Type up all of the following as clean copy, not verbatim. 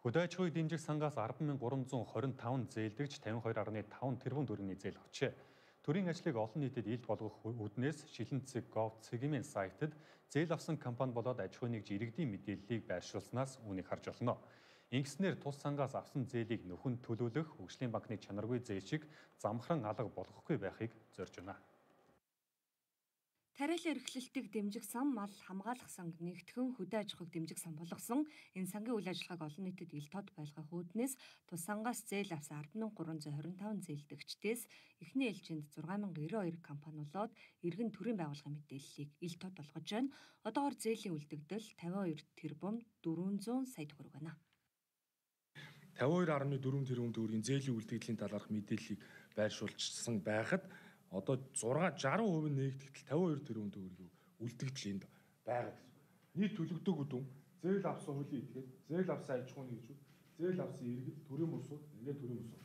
Хөдөө аж ахуйн дэмжих сангаас 10,325 зээлдэгч 52,5 тэрбум төгрөгийн зээл авчээ. Төрийн ажлыг олон нийтэд илт болгох үүднээс Шилэнцэг.gov.cg-ийн сайтад зээл авсан компани болоод аж ахуйн нэгж иргэдийн мэдээллийг байршуулснаас үүнийг харж болно. Ингэснээр тус сангаас авсан зээлийг нөхөн төлөвлөх хөгжлийн банкны чанаргүй зээл шиг замхран алга болгохгүй байхыг зорж байна. Тариалан эрхлэлтийг дэмжих сан, мал хамгаалах санг, нэгтгэн хөдөө аж ахуйг дэмжих сан болгосон энэ сангийн үйл ажиллагааг олон нийтэд ил тод байлгах үүднээс тус сангаас зээл авсан 10,325 зээлдэгчдээс эхний ээлжинд 6,092 компани болоод иргэн төрийн байгууллагын мэдээллийг ил тод болгож байна. Одоогоор зээлийн үлдэгдэл 52 тэрбум 400 сая төгрөг байна. 52.4 тэрбум төгрөгийн зээлийн үлдэгдлийн талаарх мэдээллийг байршуулсан байхад одоо 60% нэгтгэл 52 тэрбум төгрөгийн үлдэгдэл энд байгаа гэсэн. Нийт төлөгдөөг дүн зээл авсан хуулийн этгээд, зээл авсан аж ахуйн нэгжүүд, зээл авсан иргэд, төрийн бусууд, ингээд төрийн бусууд.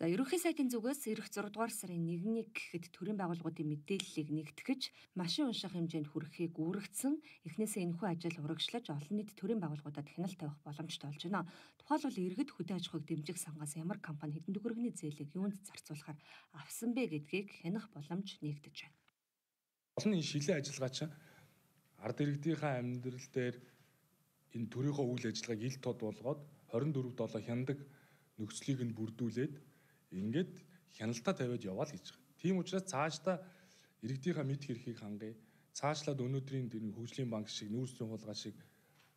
За, ерөнхий сайдын зүгээс ирэх 6 дугаар сарын 1-ний гэхэд төрийн байгууллагуудын мэдээллийг нэгтгэж, машин унших хэмжээнд хүрэхийг үүрэгдсэн. Эхнээсээ энэхүү ажил урагшлаж олон нийт төрийн байгууллагуудад хяналт тавих боломжтой болж байна. Тухайлбал иргэд хөдөө аж ахуйг дэмжих сангаас ямар компани хэдэн төгрөгийн зээлийг юунд зарцуулахаар авсан бэ гэдгийг хянах боломж нэгдэж байна. Олон энэ шилэн ажиллагаа чинь ард иргэдийнхээ амьдрал дээр энэ төрийнхөө үйл ажиллагааг ил тод болгоод 24/7 хяндаг нөхцөлийг нь бүрдүүлээд ингээд хяналтаа тавиад яваа л гэж байгаа. Тийм учраас цаашдаа иргэдийнхээ мэд хэрхийг хангая. Цаашлаад өнөөдрийн хөгжлийн банк шиг, нүүрсрийн хулгай шиг,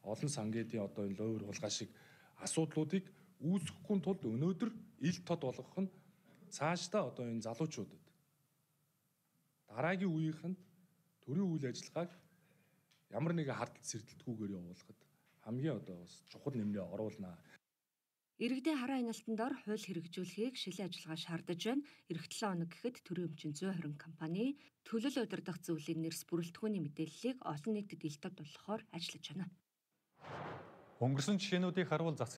олон сангийн одоо энэ лойр хулгай шиг асуудлуудыг үүсгэхгүй тулд өнөөдөр ил тод болгох нь цаашдаа одоо энэ залуучуудад дараагийн үеийнхэнд төрийн үйл ажиллагааг ямар нэгэн хардтал сэрдэлтгүйгээр явуулахад хамгийн одоо бас чухал нэмрээ оруулнаа. Иргэдийн хараа хяналтанд ор хууль хэрэгжүүлэхийг шилэн ажиллагаа шаардаж байна. Эх 7 хоног гэхэд төрийн өмчин 120 компани төлөл удирдах зөвлөлийн нэрс бүрэлдэхүүний мэдээллийг олон нийтэд ил тод болгохоор ажиллаж байна. Өнгөрсөн жишээнүүдийг харуул засаг